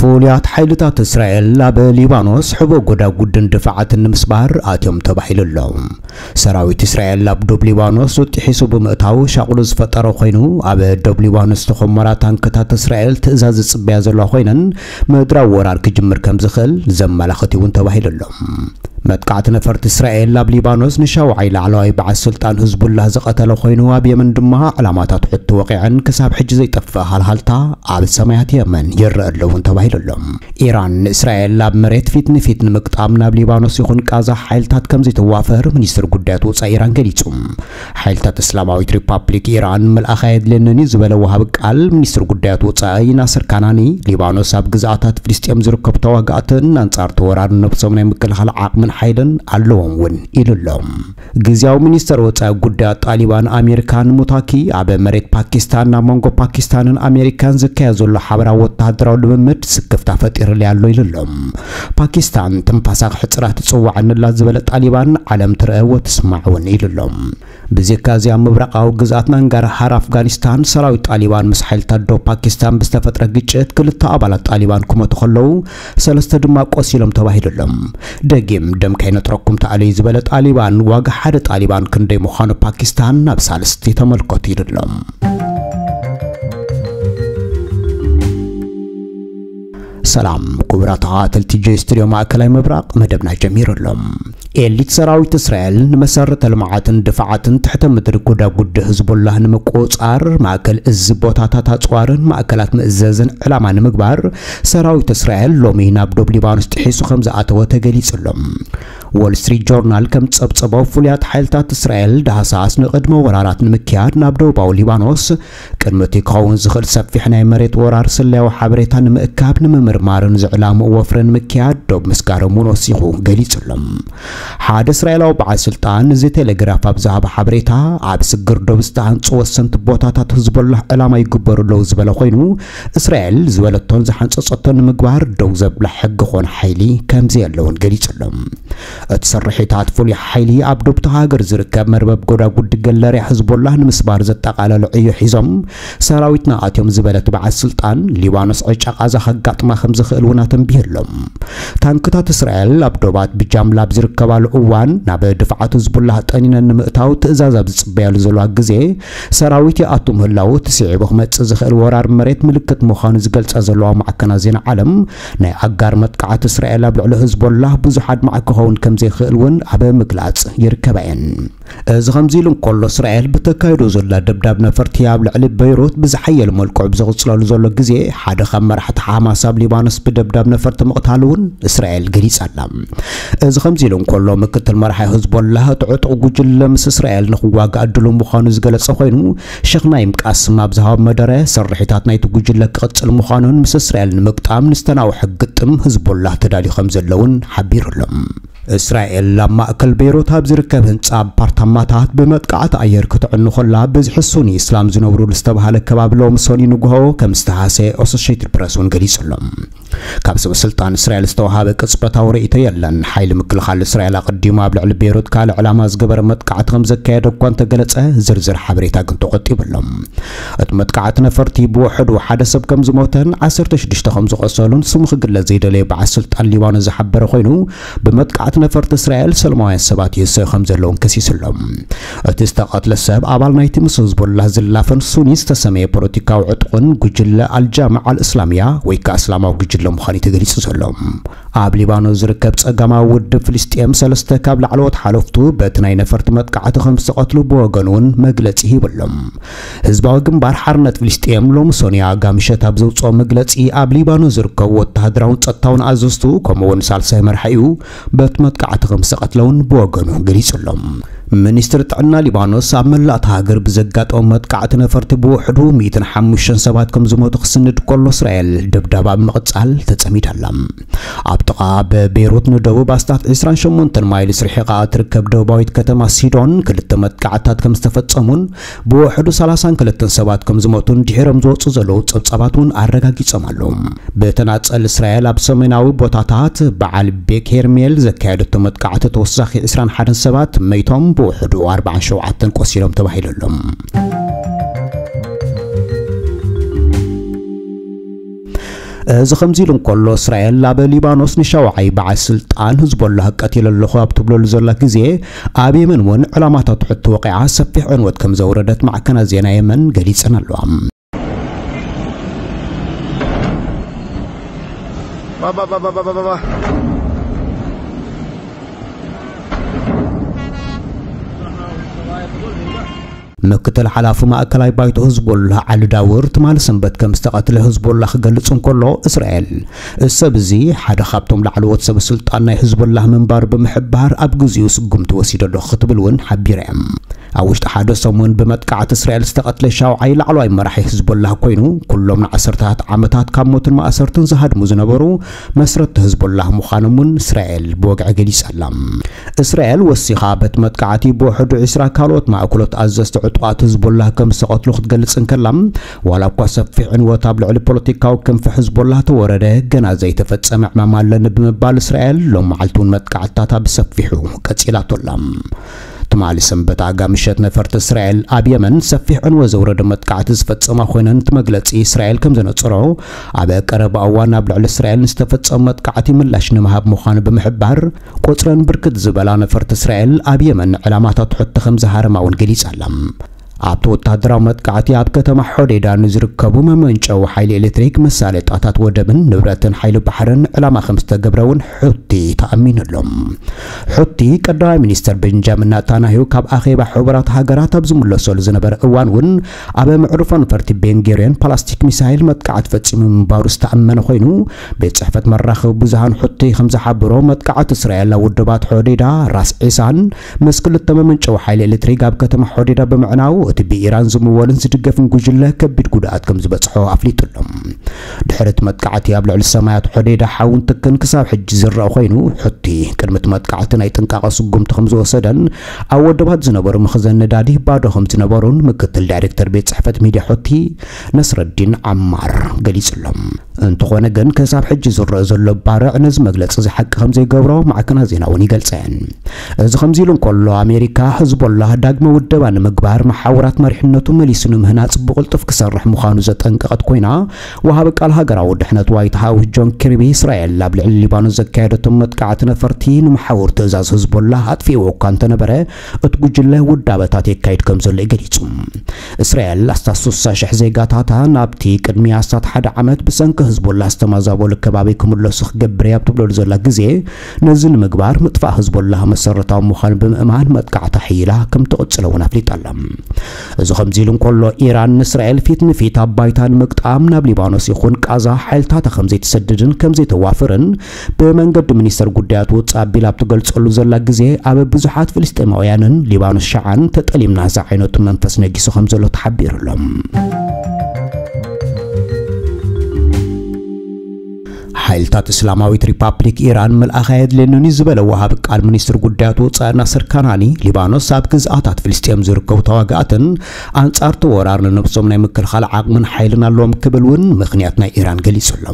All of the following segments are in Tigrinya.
ፍሉያት ሓይልታት እስራኤል ኣብ ሊባኖስ ሕቡእ ጎዳጉድን ድፋዓትን ንምስባር ኣትዮም ተባሂሉ ኣሎ። ሰራዊት እስራኤል ኣብ ዶብ ሊባኖስ ጥሒሱ ብምእታው ሻቕሉ ዝፈጠረ ኮይኑ፣ ኣብ ዶብ ሊባኖስ ዝተኾመራ ታንክታት እስራኤል ትእዛዝ ዝጽበያ ዘለዋ ኮይነን፣ ምድራዊ ወራር ክጅምር ከም ዝኽእል ዘመላኽት እውን ተባሂሉ ኣሎ። መጥቃዕቲ ነፈርቲ እስራኤል ኣብ ሊባኖስ ንሻውዓይ ላዕለዋይ በዓል ስልጣን ህዝቡላህ ዝቐተለ ኮይኑ፣ ኣብ የመን ድማ ዕላማታት ሑቲ ወቒዐን ክሳብ ሕጂ ዘይጠፍእ ሃልሃልታ ኣብ ሰማያት የመን ይረአ ኣሎ እውን ተባሂሉ ኣሎ። ኢራን ንእስራኤል ኣብ መሬት ፊት ንፊት ንምግጣም ናብ ሊባኖስ ይኹን ቃዛ ሓይልታት ከም ዘይተዋፈር ሚኒስትር ጉዳያት ወጻኢ ኢራን ገሊጹ። ሓይልታት እስላማዊት ሪፓብሊክ ኢራን ምልኣኽ ኣየድልየንን እዩ ዝበለ ወሃቢ ቃል ሚኒስትር ጉዳያት ወጻኢ ናስር ካናኒ፣ ሊባኖስ ኣብ ግዝኣታት ፍልስጤም ዝርከቡ ተዋጋእትን ኣንጻር ተወራሪ ነብሶም ናይ ምክልኻል ዓቕምን ሓይልን ኣለዎም እውን ኢሉ ኣሎ። ግዝያዊ ሚኒስተር ወጻኢ ጉዳያት ጣሊባን ኣሚር ካን ሙታኪ ኣብ መሬት ፓኪስታን ኣብ መንጎ ፓኪስታንን ኣሜሪካን ዝካየድ ዘሎ ሓበራዊ ወተሃደራዊ ልምምድ ስክፍታ ፈጢሩለይ ኣሎ ኢሉ ኣሎ። ፓኪስታን ትንፋሳ ክሕጽራ ትጽዋዕንላ ዝበለ ጣሊባን ዓለም ትረአ ወትስማዕ እውን ኢሉ ኣሎ። ብዘካ እዚ ኣብ ምብራቓዊ ግዝኣት ናንጋርሃር ኣፍጋኒስታን ሰራዊት ጣሊባን ምስ ሓይልታት ዶብ ፓኪስታን ብዝተፈጥረ ግጭት ክልተ ኣባላት ጣሊባን ክሞቱ ከለዉ ሰለስተ ድማ ቆሲሎም ተባሂሉ ኣሎ። ደጊም ደም ከይነጥረኩም ተኣለዩ ዝበለ ጣሊባን ዋጋ ሓደ ጣሊባን ክንደይ ምዃኑ ፓኪስታን ናብ ሳልስቲ ተመልከቱ ኢሉ ኣሎ። ሰላም ክቡራት ተኸታተልቲ ጆይ ስቱድዮ ማእከላይ ምብራቕ፣ መደብና ጀሚሩ ኣሎ። ኤሊት ሰራዊት እስራኤል ንመሰረተ ልምዓትን ድፋዓትን ትሕተ ምድሪ ጎዳጉዲ ህዝቦላህ ንምቁጽጻር ማእከል እዚ ቦታታት ኣጽዋርን ማእከላት ምእዘዝን ዕላማ ንምግባር ሰራዊት እስራኤል ሎሚ ናብ ዶብ ሊባኖስ ጥሒሱ ከም ዝኣተወ ተገሊጹ ኣሎ። ዎል ስትሪት ጆርናል ከም ጸብጸቦ ፍሉያት ሓይልታት እስራኤል ዳህሳስ ንቕድመ ወራራት ንምክያድ ናብ ደቡባዊ ሊባኖስ ቅድሚ እቲ ክኸውን ዝኽእል ሰፊሕ ናይ መሬት ወራር ስለያዊ ሓበሬታ ንምእካብ ንምምርማርን ዝዕላምኡ ወፍሪ ንምክያድ ዶብ ምስጋሮም እውን ወሲኹ ገሊጹ ኣሎ። ሓደ እስራኤላዊ በዓል ስልጣን እዚ ቴሌግራፍ ኣብ ዝሃቦ ሓበሬታ፣ ኣብ ስግር ዶብ ዝተሃንጹ ወሰንቲ ቦታታት ህዝቦላህ ዕላማ ይግበሩ ኣለዉ ዝበለ ኮይኑ፣ እስራኤል ዝበለቶን ዝሓንጸጸቶን ንምግባር ደው ዘብላ ሕጊ ኮነ ሓይሊ ከም ዘየለ እውን ገሊጹ ኣሎ። እቲ ስርሒታት ፍሉይ ሓይሊ ኣብ ዶብቲ ሃገር ዝርከብ መርበብ ጎዳጉዲ ገለርያ ህዝቦላህ ንምስባር ዘጠቓለሉ ዕዮ ሒዞም ሰራዊትና ኣትዮም ዝበለ እቲ በዓል ስልጣን፣ ሊባኖስ ዕጫ ቃዛ ከጋጥማ ከም ዝኽእል እውን ኣተንቢሁ ኣሎ። ታንክታት እስራኤል ኣብ ዶባት ብጃምላ ኣብ ዝርከባሉ እዋን፣ ናብ ድፍዓት ህዝቡላህ ጠኒነን ንምእታው ትእዛዝ ኣብ ዝጽበያሉ ዘለዋ ግዜ፣ ሰራዊት ይኣቱ ምህላዉ እቲ ስዒቡ ክመጽእ ዝኽእል ወራር መሬት ምልክት ምዃኑ ዝገልጻ ዘለዋ ማዕከናት ዜና ዓለም፣ ናይ ኣጋር መጥቃዕቲ እስራኤል ኣብ ልዕሊ ህዝቦላህ ብዙሕ ኣድማዒ ክኸውን ከም ዘይክእል እውን ኣብ ምግላጽ ይርከባ እየን። እዚ ከምዚ ኢሉ እንከሎ፣ እስራኤል ብተካይዶ ዘላ ደብዳብ ነፈርቲ ኣብ ልዕሊ በይሩት ብዝሓየለ መልክዑ ብዝቕጽለሉ ዘሎ ግዜ፣ ሓደ ካብ መራሕቲ ሓማስ ኣብ ሊባኖስ ብደብዳብ ነፈርቲ ምቕታሉ እውን እስራኤል ገሊጻ ኣላ። እዚ ከምዚ ኢሉ እንከሎ፣ ምክትል መራሒ ህዝቦላህ፣ እቲ ዕጡቕ ጉጅለ ምስ እስራኤል ንኽዋጋእ ድሉው ምዃኑ ዝገለጸ ኮይኑ፣ ሸኽ ናይም ቃስም ኣብ ዝሃቦ መደረ፣ ስርሒታት ናይቲ ጉጅለ ክቕጽል ምዃኑን ምስ እስራኤል ንምግጣም ንዝተናውሐ ግጥም ህዝቦላህ ተዳልዩ ከም ዘሎ እውን ሓቢሩ ኣሎ። እስራኤል ኣብ ማእከል ቤይሩት ኣብ ዝርከብ ህንጻ ኣፓርታማታት ብመጥቃዕቲ ኣየር ክትዕኑ ከላ፣ ብዝሒ ሱኒ እስላም ዝነብሩሉ ዝተባህለ ከባቢ ሎሚ ሰኑይ ንግሆ ከም ዝተሃሰየ ኣሶሼትድ ፕረስ እውን ገሊጹ ኣሎ። ካብ ሰበ ስልጣን እስራኤል ዝተዋሃበ ቅጽበታዊ ርእይቶ የለን። ሓይሊ ምክልኻል እስራኤል ኣቐዲሙ ኣብ ልዕሊ ቤይሩት ካልእ ዕላማ ዝገበረ መጥቃዕቲ ከም ዘካየደ እኳ እንተገለጸ፣ ዝርዝር ሓበሬታ ግን ተቖጢቡ ኣሎ። እቲ መጥቃዕቲ ነፈርቲ ብውሕዱ ሓደ ሰብ ከም ዝሞተን ዓሰርተ ሽዱሽተ ከም ዝቖሰሉን ስሙ ክግለጽ ዘይደለየ በዓል ስልጣን ሊባኖስ ዝሓበረ ኮይኑ፣ ብመጥቃዕቲ ነፈርቲ እስራኤል ሰላማውያን ሰባት ይህሰዩ ከም ዘለውን ከሲሱ ኣሎ። እቲ ዝተቐትለ ሰብ ኣባል ናይቲ ምስ ህዝቦላህ ዝላፈን ሱኒ ዝተሰመየ ፖለቲካዊ ዕጡቕን ጉጅለ ኣልጃማዓ ኣልእስላምያ ወይ ከኣ እስላማዊ ጉጅለ ምዃኑ እዩ ተገሊጹ ዘሎ። ኣብ ሊባኖስ ዝርከብ ጸጋማዊ ውድብ ፍልስጤም ሰለስተ ካብ ላዕለዎት ሓለፍቱ በቲ ናይ ነፈርቲ መጥቃዕቲ ከም ዝተቐትሉ ብወገኑ እውን መግለጺ ሂቡ ኣሎ። ህዝባዊ ግንባር ሓርነት ፍልስጤም ሎሚ ሰኑይ ኣጋ ምሸት ኣብ ዘውጽኦ መግለጺ፣ ኣብ ሊባኖስ ዝርከቡ ወተሃደራውን ጸጥታውን ኣዘዝቱ ከምኡ እውን ሳልሳይ መራሒኡ በቲ መጥቃዕቲ ከም ዝተቐትለ እውን ብወገኑ ገሊጹ ኣሎ። ሚኒስትሪ ጥዕና ሊባኖስ ኣብ መላእ እታ ሃገር ብዘጋጠመ መጥቃዕቲ ነፈርቲ ብውሕዱ ሚእትን ሓሙሽተን ሰባት ከም ዝሞቱ ክስንድ ከሎ፣ እስራኤል ደብዳባ ብምቕጻል ተጸሚዳ ኣላ። ኣብ ጥቓ ብቤይሩት ንደቡብ ኣስታት ዕስራን ሸሞንተን ማይልስ ርሒቓ እትርከብ ደቡባዊት ከተማ ሲዶን ክልተ መጥቃዕትታት ከም ዝተፈጸሙን ብውሕዱ ሰላሳን ክልተን ሰባት ከም ዝሞቱን ድሒሮም ዝወጹ ዘለዉ ጸብጻባት እውን ኣረጋጊጾም ኣለዉ። ብተናጸል እስራኤል ኣብ ሰሜናዊ ቦታታት በዓል ቤክ ሄርሜል ዘካየደቶ መጥቃዕቲ ተወሳኺ ዕስራን ሓደን ሰባት መይቶም፣ ብውሕዱ ኣርባዓን ሸውዓተን ቆሲሎም ተባሂሉ ኣሎ። እዚ ከምዚ ኢሉ እንከሎ፣ እስራኤል ኣብ ሊባኖስ ንሻውዓይ በዓል ስልጣን ህዝቦላህ ቀቲለ ኣለኹ ኣብ ትብለሉ ዘላ ግዜ፣ ኣብ የመን እውን ዕላማታት ሕቶ ወቂዓ ሰፊሕ ዕንወት ከም ዘውረደት ማዕከናት ዜና የመን ገሊጸን ኣለዋ። ምክትል ሓላፊ ማእከላይ ባይቶ ህዝቦላህ ዓሊ ዳውር ትማሊ ሰንበት ከም ዝተቐትለ ህዝቦላህ ክገልጽ እንከሎ፣ እስራኤል እዚ ሰብ እዚ ሓደ ካብቶም ላዕለዎት ሰብ ስልጣን ናይ ህዝቦላህ ምንባር ብምሕባር ኣብ ግዜኡ ስጉምቲ ወሲደ ኣለኹ ክትብል እውን ሓቢራ እያ። ኣብ ውሽጢ ሓደ ሰሙን ብመጥቃዕቲ እስራኤል ዝተቐትለ ሻውዓይ ላዕለዋይ መራሒ ህዝቦላህ ኮይኑ፣ ኩሎም ንዓሰርታት ዓመታት ካብ ሞትን ማእሰርትን ዝሃድሙ ዝነበሩ መስረቲ ህዝቦላህ ምዃኖም እውን እስራኤል ብወግዒ ገሊጻ ኣላ። እስራኤል ወሲኻ በቲ መጥቃዕቲ ብውሕዱ ዕስራ ካልኦት ማእከሎት ኣዘዝቲ ዕጡቓት ህዝቦላህ ከም ዝተቐትሉ ክትገልጽ እንከላ፣ ዋላ እኳ ሰፊሕ ዕንወት ኣብ ልዕሊ ፖለቲካዊ ክንፊ ህዝቦላህ ተወረደ፣ ገና ዘይተፈጸመ ዕማም ኣለኒ ብምባል እስራኤል ሎም መዓልቲ እውን መጥቃዕትታታ ብሰፊሑ ቀጺላቶ ኣላ። ትማሊ ሰንበት ኣጋ ምሸት ነፈርቲ እስራኤል ኣብ የመን ሰፊሕ ዕንወት ዘውረደ መጥቃዕቲ ዝፈጸማ ኮይነን፣ እቲ መግለጺ እስራኤል ከም ዘነጸሮ፣ ኣብ ቀረባ እዋን ኣብ ልዕሊ እስራኤል ንዝተፈጸመ መጥቃዕቲ ምላሽ ንምሃብ ምዃኑ ብምሕባር፣ ቁጽረን ብርክት ዝበላ ነፈርቲ እስራኤል ኣብ የመን ዕላማታት ሕቶ ከም ዝሃረማ እውን ገሊጻ ኣላ። ኣብቲ ወታደራዊ መጥቃዕቲ ኣብ ከተማ ሖዴዳ ንዝርከቡ መመንጨዊ ሓይሊ ኤሌክትሪክ፣ መሳለጣታት ወደብን ንብረትን ሓይሊ ባሕርን ዕላማ ከም ዝተገብረ እውን ሑቲ ተኣሚኑ ኣሎ። ሑቲ ቀዳማይ ሚኒስተር ቤንጃሚን ናታንያሁ ካብ ኣኼባ ሕቡራት ሃገራት ኣብ ዝምለሰሉ ዝነበረ እዋን እውን ኣብ መዕርፎ ነፈርቲ ቤንጎሪዮን ፓላስቲክ ሚሳይል መጥቃዕቲ ፈጺሙ ምንባሩ ዝተኣመነ ኮይኑ፣ ቤት ጽሕፈት መራኸቢ ብዙሃን ሑቲ ከም ዝሓበሮ፣ መጥቃዕቲ እስራኤል ኣብ ውድባት ሖዴዳ፣ ራስ ዒሳን ምስ ክልተ መመንጨዊ ሓይሊ ኤሌክትሪክ ኣብ ከተማ ሖዴዳ ብምዕናው፣ እቲ ብኢራን ዝምወልን ዝድገፍን ጉጅለ ከቢድ ጉድኣት ከም ዝበጽሖ ኣፍሊጡ ኣሎ። ድሕሪ እቲ መጥቃዕቲ ኣብ ልዕሊ ሰማያት ሖዴዳ ሓውን ትክን ክሳብ ሕጂ ዝረአ ኮይኑ፣ ሑቲ ቅድሚ እቲ መጥቃዕቲ ናይ ጥንቃቐ ስጉምቲ ከም ዝወሰደን ኣብ ወደባት ዝነበሩ መኽዘን ነዳዲ ባዶ ከም ዝነበሩን ምክትል ዳይሬክተር ቤት ጽሕፈት ሚድያ ሑቲ ነስረዲን ዓማር ገሊጹ ኣሎ። እንተኾነ ግን፣ ክሳብ ሕጂ ዝረአ ዘሎ ባርዕ ነዚ መግለጺ እዚ ሓቂ ከም ዘይገብሮ ማዕከናት ዜና እውን ይገልጸን። እዚ ከምዚ ኢሉ እንከሎ፣ ኣሜሪካ ህዝቦላህ ዳግመ ውደባ ንምግባር፣ መሓውራት መሪሕነቱ መሊሱ ንምህናጽ ብቕልጡፍ ክሰርሕ ምዃኑ ዘጠንቀቐት ኮይና፣ ወሃቢ ቃል ሃገራዊ ድሕነት ዋይት ሃውስ ጆን ኪርቢ፣ እስራኤል ኣብ ልዕሊ ሊባኖስ ዘካየደቶም መጥቃዕቲ ነፈርቲ ንመሓውር ትእዛዝ ህዝቦላህ ኣጥፊእዎ እኳ እንተነበረ፣ እቲ ጉጅለ ውዳበታት የካይድ ከም ዘሎ እዩ ገሊጹ። እስራኤል ኣስታት ስሳ ሽሕ ዜጋታታ ናብቲ ቅድሚ ኣስታት ሓደ ዓመት ብሰንኪ ህዝቦላህ ዝተመዛበሉ ከባቢ ክምለሱ ክገብር እያ ኣብ ትብለሉ ዘላ ግዜ፣ ነዚ ንምግባር ምጥፋእ ህዝቦላህ መሰረታዊ ምዃኑ ብምእማን መጥቃዕታ ሕይላ ከም ትቕጽሎ እውን ኣፍሊጣ ኣላ። እዚ ከምዚ ኢሉ እንከሎ፣ ኢራን ንእስራኤል ፊት ንፊት ኣብ ባይታ ንምግጣም ናብ ሊባኖስ ይኹን ቃዛ ሓይልታታ ከም ዘይትሰድድን ከም ዘይተዋፍርን ብመንገዲ ሚኒስተር ጉዳያት ወጻኢ ኣቢላ ኣብ ትገልጸሉ ዘላ ግዜ፣ ኣብ ብዙሓት ፍልስጤማውያንን ሊባኖስ ሸዓን ተጠሊምና ዝዓይነቱ መንፈስ ነጊሱ ከም ዘሎ ተሓቢሩ ኣሎ። ሓይልታት እስላማዊት ሪፓብሊክ ኢራን ምልኣኽ ኣየድልየንን እዩ ዝበለ ወሃቢ ቃል ሚኒስትሪ ጉዳያት ወጻኢ ናስር ካናኒ፣ ሊባኖስ ኣብ ግዝኣታት ፍልስጤም ዝርከቡ ተዋጋእትን ኣንጻር እቲ ወራር ንነብሶም ናይ ምክልኻል ዓቕምን ሓይልን ኣለዎም ክብል እውን ምኽንያት ናይ ኢራን ገሊጹ ኣሎ።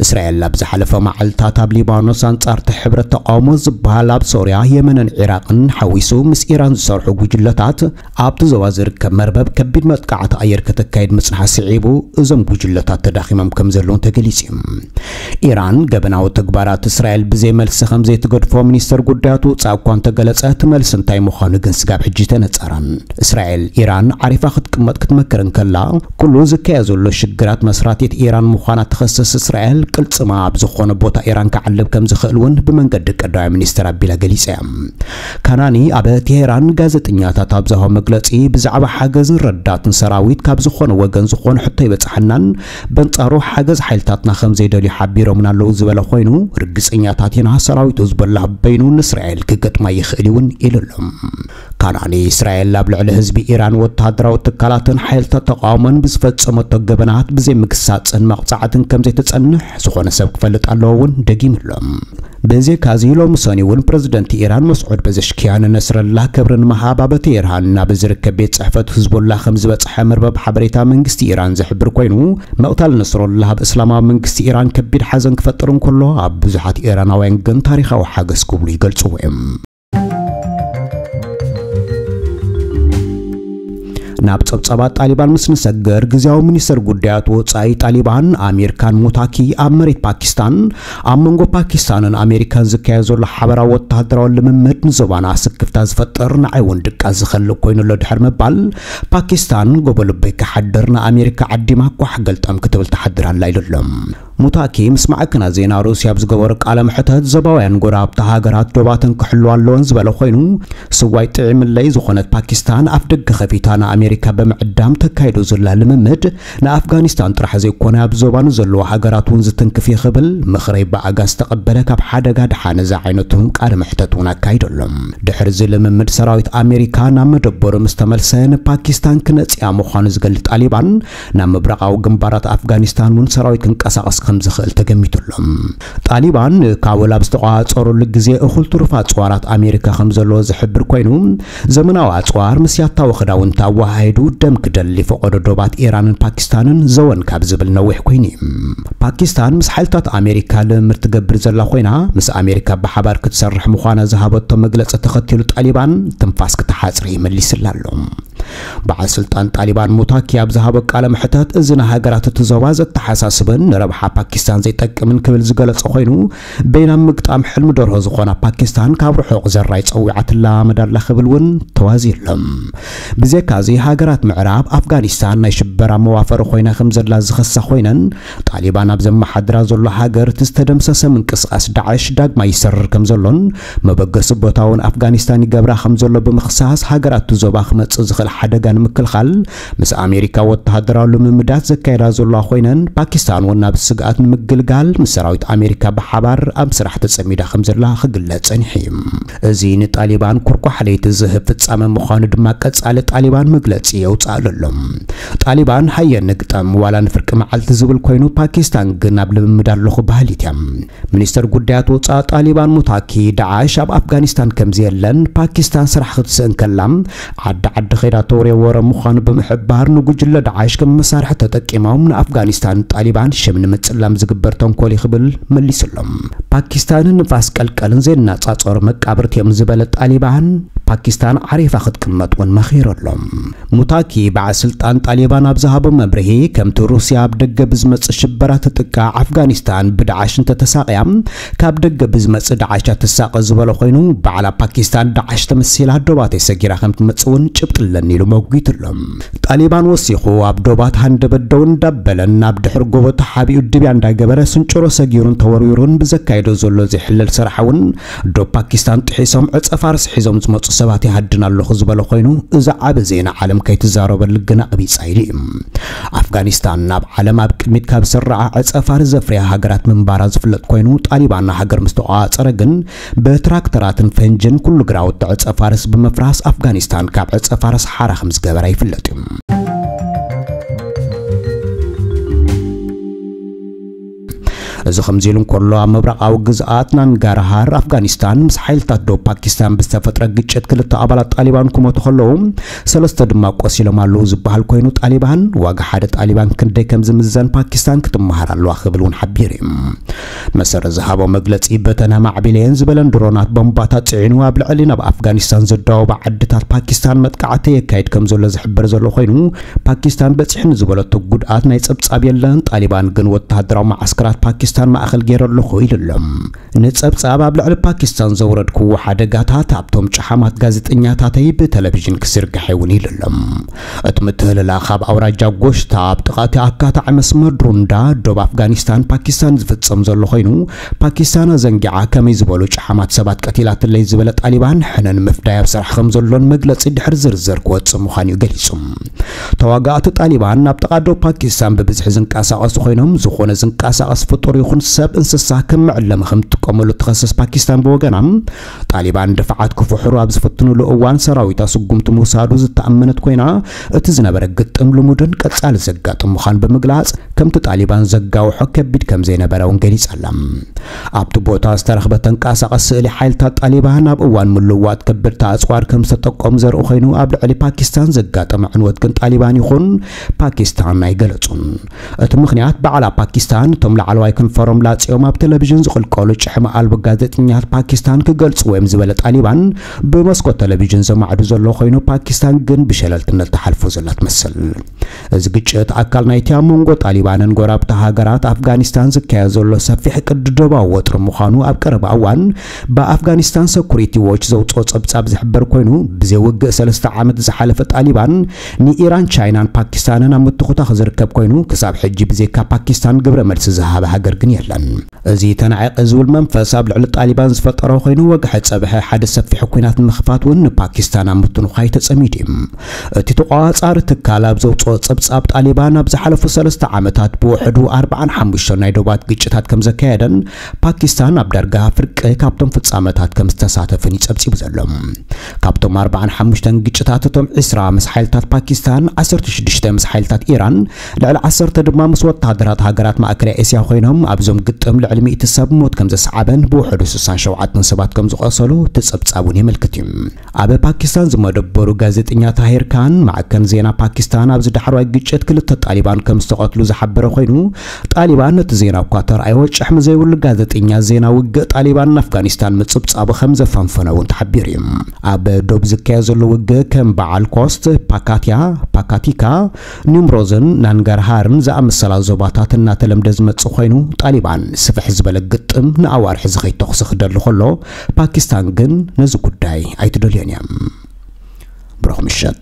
እስራኤል ኣብ ዝሓለፈ መዓልታት ኣብ ሊባኖስ ኣንጻር እቲ ሕብረት ተቃውሞ ዝበሃል ኣብ ሶርያ፣ የመንን ዒራቕን ሓዊሱ ምስ ኢራን ዝሰርሑ ጉጅለታት ኣብቲ ዞባ ዝርከብ መርበብ ከቢድ መጥቃዕቲ ኣየር ከተካይድ ምጽንሓ ስዒቡ፣ እዞም ጉጅለታት ተዳኺሞም ከም ዘለዉ ተገሊጹ እዩ። ኢራን ገበናዊ ተግባራት እስራኤል ብዘይ መልሲ ከም ዘይትገድፎ ሚኒስተር ጉዳያት ወጻኢ እኳ እንተገለጸ፣ እቲ መልሲ እንታይ ምዃኑ ግን ስጋብ ሕጂ ተነጸራን። እስራኤል ኢራን ዓሪፋ ክትቅመጥ ክትመክር እንከላ፣ ኩሉ ዝካየ ዘሎ ሽግራት መስራቲት ኢራን ምዃና ትኸስስ እስራኤል፣ ቅልጽማ ኣብ ዝኾነ ቦታ ኢራን ክዓልብ ከም ዝኽእል እውን ብመንገዲ ቀዳማይ ሚኒስተር ኣቢላ ገሊጻ እያ። ካናኒ ኣብ ቴሄራን ጋዜጠኛታት ኣብ ዝሃቦ መግለጺ፣ ብዛዕባ ሓገዝን ረዳትን ሰራዊት ካብ ዝኾነ ወገን ዝኾነ ሕቶ ይበጽሓናን፣ በንጻሩ ሓገዝ ሓይልታትና ከም ዘይደልዩ ሓቢሮምን ኣለዉ ዝበለ ኮይኑ፣ ርግጸኛታት ኢና ሰራዊት ህዝቦላህ በይኑ ንእስራኤል ክገጥማ ይኽእል እውን ኢሉ ኣሎ። ካናኒ፣ እስራኤል ኣብ ልዕሊ ህዝቢ ኢራን፣ ወተሃደራዊ ትካላትን ሓይልታት ተቃውሞን ብዝፈጸመቶ ገበናት ብዘይ ምግሳጽን መቕጻዕትን ከም ዘይትጸንሕ ዝኾነ ሰብ ክፈልጥ ኣለዎ እውን ደጊሙ ኣሎ። ብዘይካዚ፣ ሎሚ ሰኒ እውን ፕረዚደንት ኢራን መስዑድ ፐዘሽኪያን ነስረላህ ክብሪ ንምሃብ ኣብ ቴህራን ናብ ዝርከብ ቤት ጽሕፈት ህዝቦላህ ከም ዝበጽሐ መርበብ ሓበሬታ መንግስቲ ኢራን ዝሕብር ኮይኑ፣ መቕታል ነስሮላህ ኣብ እስላማዊ መንግስቲ ኢራን ከቢድ ሓዘን ክፈጥር እንከሎ፣ ኣብ ብዙሓት ኢራናውያን ግን ታሪኻዊ ሓገዝ ክብሉ ይገልጽዎ እዮም። ናብ ጸብጻባት ጣሊባን ምስ ንሰግር፣ ግዝያዊ ሚኒስተር ጉዳያት ወጻኢ ጣሊባን ኣሚር ካን ሙታኪ ኣብ መሬት ፓኪስታን ኣብ መንጎ ፓኪስታንን ኣሜሪካን ዝካየድ ዘሎ ሓበራዊ ወተሃደራዊ ልምምድ ንዞባና ስክፍታ ዝፈጥር፣ ንዓይ እውን ድቃስ ዝኸልእ ኮይኑ ኣሎ ድሕሪ ምባል፣ ፓኪስታን ጎቦ ልበይ ክሓድር ንኣሜሪካ ዓዲማ ኳሕ ገልጠም ክትብል ትሓድር ኣላ ኢሉ ኣሎ። ሙታኪ ምስ ማዕከናት ዜና ሩስያ ኣብ ዝገበሮ ቃለ መሕተት፣ ዞባውያን ጎረባብቲ ሃገራት ዶባተን ክሕልዋ ኣለወን ዝበለ ኮይኑ፣ ስዋይ ጥዒምለይ ዝኾነት ፓኪስታን ኣፍ ደገ ከፊታ ንኣሜሪካ ብምዕዳም ተካይዶ ዘላ ልምምድ ንኣፍጋኒስታን ጥራሕ ዘይኮነ ኣብ ዞባ ንዘለዋ ሃገራት እውን ዝትንክፍ እዩ ክብል ምኽረይ ብኣጋ ዝተቐበለ ካብ ሓደጋ ድሓን እዚ ዓይነቱ ቃለ መሕተት እውን ኣካይዱ ኣሎ። ድሕሪ እዚ ልምምድ ሰራዊት ኣሜሪካ ናብ መደበሩ ምስ ተመልሰ ንፓኪስታን ክነጽያ ምዃኑ ዝገልጽ ጣሊባን ናብ ምብራቓዊ ግንባራት ኣፍጋኒስታን እውን ሰራዊት ክንቀሳቐስ ከም ዝኽእል ተገሚቱ ኣሎ። ጣሊባን ንካቡል ኣብ ዝተቋጸረሉ ግዜ እኹል ትሩፍ ኣጽዋራት ኣሜሪካ ከም ዘለዎ ዝሕብር ኮይኑ፣ ዘመናዊ ኣጽዋር ምስ ያታዊ ክዳውንቲ ኣወሃሂዱ ደም ክደሊ ፈቐዶ ዶባት ኢራንን ፓኪስታንን ዘወን ካብ ዝብል ነዊሕ ኮይኑ እዩ። ፓኪስታን ምስ ሓይልታት ኣሜሪካ ልምምድ ትገብር ዘላ ኮይና፣ ምስ ኣሜሪካ ብሓባር ክትሰርሕ ምዃና ዝሃበቶ መግለጺ ተኸቲሉ ጣሊባን ትንፋስ ክትሓጽሪ መሊስላ ኣሎ። በዓል ስልጣን ጣሊባን ሙታኪ ኣብ ዝሃቦ ቃለ መሕተት፣ እዚ ንሃገራት እቲ ዞባ ዘተሓሳስብን ንረብሓ ፓኪስታን ዘይጠቅምን ክብል ዝገለጸ ኮይኑ፣ በይና ምግጣም ሕልሚ ደርሆ ዝኾና ፓኪስታን ካብ ርሑቕ ዘራይ ጸዊዓትላ መዳላ ክብል እውን ተዋዚሎም። ብዘካዚ ሃገራት ምዕራብ ኣፍጋኒስታን ናይ ሽበራ መዋፈሪ ኮይና ከም ዘላ ዝኸሳ ኮይነን፣ ጣሊባን ኣብ ዘመሓድራ ዘሎ ሃገር እቲ ዝተደምሰሰ ምንቅስቃስ ዳዕሽ ዳግማይ ይሰርር ከም ዘሎን መበገሲ ቦታ እውን ኣፍጋኒስታን ይገብራ ከም ዘሎ ብምኽሳስ፣ ሃገራት እቲ ዞባ ክመጽእ ዝኽእል ሓደጋ ንምክልኻል ምስ ኣሜሪካ ወተሃደራዊ ልምምዳት ዘካየዳ ዘለዋ ኮይነን፣ ፓኪስታን እውን ናብ ስግኣት ንምግልጋል ምስ ሰራዊት ኣሜሪካ ብሓባር ኣብ ስራሕ ተጸሚዳ ከም ዘላ ክግለጽ ጸኒሑ እዩ። እዚ ንጣሊባን ኩርኳሕ ለይቲ ዝህብ ፍጻመ ምዃኑ ድማ ቀጻሊ ጣሊባን መግለጺ የውጽኣሉ ኣሎ። ጣሊባን ሃየ ንግጠም ዋላ ንፍርቂ መዓልቲ ዝብል ኮይኑ፣ ፓኪስታን ግን ኣብ ልምምድ ኣለኹ በሃሊት እያ። ሚኒስተር ጉዳያት ወጻኢ ጣሊባን ሙታኪ፣ ዳዕሽ ኣብ ኣፍጋኒስታን ከም ዘየለን ፓኪስታን ስራሕ ክትስእን ከላ ዓዲ ዓዲ ኸይዳ ተውርዮ ወረ ምዃኑ ብምሕባር፣ ንጉጅለ ዳዕሽ ከም መሳርሒ ተጠቂሞም ንኣፍጋኒስታን ጣሊባን ሽም ንምጽላም ዝግበር ተንኮል እዩ ክብል መሊሱሎም። ፓኪስታንን ንፋስ ቀልቀልን ዘየነጻጸሩ መቃብርቲ እዮም ዝበለ ጣሊባን፣ ፓኪስታን ዓሪፋ ክትቅመጥ እውን መኺሩ ኣሎ። ሙታኪ በዓል ስልጣን ጣሊባን ኣብ ዝሃቦ መብርሂ፣ ከምቲ ሩስያ ኣብ ደገ ብዝመጽእ ሽበራ ትጥቃዕ፣ ኣፍጋኒስታን ብዳዕሽ እንተተሳቕያ፣ ካብ ደገ ብዝመጽእ ዳዕሽ እያ ትሳቐ ዝበለ ኮይኑ፣ ባዕላ ፓኪስታን ዳዕሽ ተመሲላ ዶባተይ ሰጊራ ከም ትመጽእ እውን ጭብጢ ኣለኒ ኢሉ መጒቱ ኣሎ። ጣሊባን ወሲኹ፣ ኣብ ዶባት ሃንደበት ደው እንዳበለን ናብ ድሕሪ ጎቦ ተሓቢኡ ድብያ እንዳገበረ ስንጭሮ ሰጊሩን ተወርዊሩን ብዘካየዶ ዘሎ ዘይሕለል ስራሕ እውን ዶብ ፓኪስታን ጥሒሶም ዕጸ ፋርስ ሒዞም ዝመጹ ሰባት ይሃድን ኣለኹ ዝበለ ኮይኑ፣ እዚ ዓቢ ዜና ዓለም ከይትዛረበሉ ግን ኣቕቢጻ ኢሉ እዩ። ኣፍጋኒስታን ናብ ዓለም ኣብ ቅድሚት ካብ ዝስርዓ ዕጸ ፋርስ ዘፍርያ ሃገራት ምንባራ ዝፍለጥ ኮይኑ፣ ጣሊባን ሃገር ምስ ተቋጸረ ግን ብትራክተራትን ፈንጅን ኩሉ ግራውቲ ዕጸ ፋርስ ብምፍራስ ኣፍጋኒስታን ካብ ዕጸ ፋርስ ሓራ ከም ዝገበራ ይፍለጥ እዩ። እዚ ከምዚ ኢሉ እንከሎ፣ ኣብ ምብራቓዊ ግዝኣት ናንጋርሃር ኣፍጋኒስታን ምስ ሓይልታት ዶብ ፓኪስታን ብዝተፈጥረ ግጭት ክልተ ኣባላት ጣሊባን ክሞቱ ከለዉ፣ ሰለስተ ድማ ቆሲሎም ኣለዉ ዝበሃል ኮይኑ፣ ጣሊባን ዋጋ ሓደ ጣሊባን ክንደይ ከም ዝምዘን ፓኪስታን ክትመሃር ኣለዋ ክብል እውን ሓቢሩ እዩ። መሰረት ዝሃቦ መግለጺ፣ በተን ኣማዕቢለየን ዝበለን ድሮናት ቦምባታት ጽዒኑ ኣብ ልዕሊ ናብ ኣፍጋኒስታን ዘዳወባ ዓድታት ፓኪስታን መጥቃዕቲ የካይድ ከም ዘሎ ዝሕበር ዘሎ ኮይኑ፣ ፓኪስታን በጺሕኒ ዝበለቶ ጉድኣት ናይ ጸብጻብ የለን። ጣሊባን ግን ወተሃደራዊ መዓስከራት ፓኪስታን ማእከል ገይረ ኣለኹ ኢሉ ኣሎ። ንጸብጻብ ኣብ ልዕሊ ፓኪስታን ዘውረድክዎ ሓደጋታት ኣብቶም ጨሓማት ጋዜጠኛታተይ ብቴሌቪዥን ክዝርጋሕ እውን ኢሉ ኣሎ። እቲ ምትህልላኽ ኣብ ኣውራጃ ጎሽታ ኣብ ጥቓ እቲ ኣካታዒ መስመር ድሩንዳ ዶብ ኣፍጋኒስታን ፓኪስታን ዝፍጸም ዘሎ ኮይኑ፣ ፓኪስታን ኣዘንጊዓ ከመይ ዝበሉ ጨሓማት ሰባት ቀቲላትለይ ዝበለ ጣሊባን ሕነ ንምፍዳይ ኣብ ስራሕ ከም ዘሎን መግለጺ ድሕሪ ዝርዝር ክወጽእ ምዃኑ እዩ ገሊጹ። ተዋጋእቲ ጣሊባን ናብ ጥቓ ዶብ ፓኪስታን ብብዝሒ ዝንቀሳቐሱ ኮይኖም፣ ዝኾነ ዝንቀሳቐስ ፍጡር ይኹን ሰብ እንስሳ ከም መዕለሚ ከም ትጥቀመሉ ትኸስስ ፓኪስታን ብወገና፣ ጣሊባን ድፋዓት ክፍሕሩ ኣብ ዝፍትኑሉ እዋን ሰራዊታ ስጉምቲ ምውሳዱ ዝተኣመነት ኮይና፣ እቲ ዝነበረ ግጥም ልሙድን ቀጻሊ ዘጋጥም ምዃኑ ብምግላጽ፣ ከምቲ ጣሊባን ዘጋውሖ ከቢድ ከም ዘይነበረ እውን ገሊጻ ኣላ። ኣብቲ ቦታ ዝተረኽበ ተንቀሳቐሲ ስእሊ ሓይልታት ጣሊባን ኣብ እዋን ምልውዋጥ ከበድቲ ኣጽዋር ከም ዝተጠቀሙ ዘርኢ ኮይኑ፣ ኣብ ልዕሊ ፓኪስታን ዘጋጠመ ዕንወት ግን ጣሊባን ይኹን ፓኪስታን ኣይገለጹን። እቲ ምኽንያት ባዕላ ፓኪስታን እቶም ላዕለዋይ ክንፊ ፎረም ላጽዮም ኣብ ቴሌቪዥን ዝቕልቀሉ ጭሕሚ ኣልቦ ጋዜጠኛታት ፓኪስታን ክገልጽዎ እዮም ዝበለ ጣሊባን፣ ብመስኮት ቴሌቪዥን ዘማዕዱ ዘሎ ኮይኑ፣ ፓኪስታን ግን ብሸለልትነት ትሓልፎ ዘላ ትመስል። እዚ ግጭት ኣካል ናይቲ ኣብ መንጎ ጣሊባንን ጎረባብቲ ሃገራት ኣፍጋኒስታን ዝካየድ ዘሎ ሰፊሕ ቅድደባዊ ወጥሪ ምዃኑ ኣብ ቀረባ እዋን ብኣፍጋኒስታን ሰኩሪቲ ዎች ዘውፅኦ ጸብጻብ ዝሕበር ኮይኑ፣ ብዘይ ውግእ ሰለስተ ዓመት ዝሓለፈ ጣሊባን ንኢራን፣ ቻይናን ፓኪስታንን ኣብ ምትኹታኽ ዝርከብ ኮይኑ፣ ክሳብ ሕጂ ብዘይካ ፓኪስታን ግብረ መልሲ ዝሃበ ሃገር ግን የለን። እዚ ተናዒቐ ዝብል መንፈስ ኣብ ልዕሊ ጣሊባን ዝፈጠሮ ኮይኑ፣ ወግሐ ጸብሐ ሓደ ሰፊሕ ኲናት ንምኽፋት እውን ንፓኪስታን ኣብ ምትንዃይ ተጸሚዱ እዩ። እቲ ተቋጻሪ ትካል ኣብ ዘውፅኦ ጸብጻብ፣ ጣሊባን ኣብ ዝሓለፉ ሰለስተ ዓመታት ብውሕዱ ኣርባዓን ሓሙሽተን ናይ ዶባት ግጭታት ከም ዘካየደን ፓኪስታን ኣብ ዳርጋ ፍርቂ ካብቶም ፍጻመታት ከም ዝተሳተፈን እዩ ጸብጺቡ ዘሎ። ካብቶም ኣርባዓን ሓሙሽተን ግጭታት፣ እቶም ዕስራ ምስ ሓይልታት ፓኪስታን፣ ዓሰርተ ሽዱሽተ ምስ ሓይልታት ኢራን፣ ልዕሊ ዓሰርተ ድማ ምስ ወተሃደራት ሃገራት ማእከላይ እስያ ኮይኖም፣ ኣብዞም ግጥም ልዕሊ ሚእቲ ሰብ ሞት ከም ዘስዓበን ብውሕዱ ስሳን ሸውዓተን ሰባት ከም ዝቖሰሉ እቲ ጸብጻብ እውን የመልክት እዩ። ኣብ ፓኪስታን ዝመደበሩ ጋዜጠኛ ታሂር ካን፣ ማዕከን ዜና ፓኪስታን ኣብዚ ዳሕረዋይ ግጭት ክልተ ጣሊባን ከም ዝተቐትሉ ዝሓበረ ኮይኑ፣ ጣሊባን ነቲ ዜና እኳ ተርኣዮ፣ ጭሕሚ ዘይብሉ ጋዜጠኛ ዜና ውግእ ጣሊባን ንኣፍጋኒስታን ምጽብጻቡ ከም ዘፈንፈነ እውን ተሓቢሩ እዩ። ኣብ ዶብ ዝካየድ ዘሎ ውግእ ከም በዓል ኮስት፣ ፓካትያ፣ ፓካቲካ፣ ኒምሮዝን ናንጋርሃርን ዝኣመሰላ ዞባታት እናተለምደ ዝመጽእ ኮይኑ፣ ጣሊባን ስፍሕ ዝበለ ግጥም ንኣዋርሒ ዝኸይድ ተኹሲ ክደሊ ከሎ፣ ፓኪስታን ግን ነዚ ጉዳይ ኣይትደልዮን እያ። ብሩኽ ምሸት።